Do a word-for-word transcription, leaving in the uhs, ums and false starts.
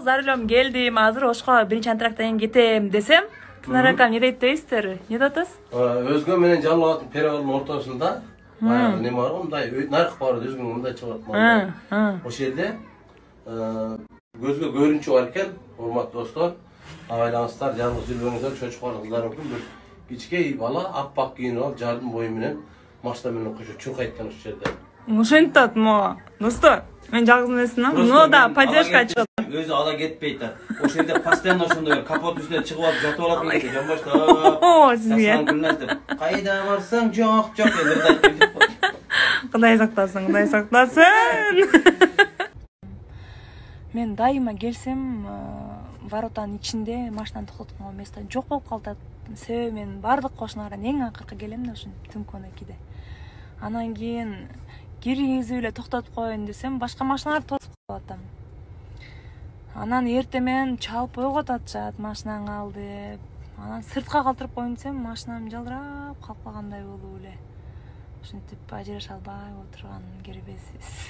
за рулем келдим, азыр Ошко биринчи антрактан кийин кетем десем, Тынар акам не дейт дейсиздер? Не деп атасыз? Өзгө менен жалал атын перевалдын ортосунда баягы неме бар го, мындай наркы бар, өзгө мындай чыгып атат. Ошол жерде көзгө көрүнчү бар экен, урматтуу достор. Айлаңыздар, жалгыз жүрбөңүздөр, чочук бар кыздар мүмкүн бир кичкей бала аппак кийинип алып, жардын бою менен машина менен кошо чуркайткан ошол жерде. Ошентип атат мо. Достор, мен жалгыз эмесмин. Но да поддержка чыгат. Өзү ала кетпейт да. Ошол жерде постоянно ошондой капот үстүнө чыгып алып жатып алат экен, жамбаштап. О, сизге. Кайда барсаң, жок, жок деп. Кудай сактасын, Кудай сактасын. Мен дайыма келсем, воротанын ичинде машинаны токтоткон место жок болуп калат. Себеби мен бардык кошуналардан эң акыркы келем да ушун түнкүнө кийде. Анан кийин киргизип эле токтотуп коеюн десем, башка машиналар тосуп калат. Анан эртемен чалып ойготуп атышат, машинаңы ал деп. Анан сыртка калтырып коеюн десем, машинам жалдырап калып калгандай болуп эле. Ушинтип ажыраша албай отурган кербезбиз.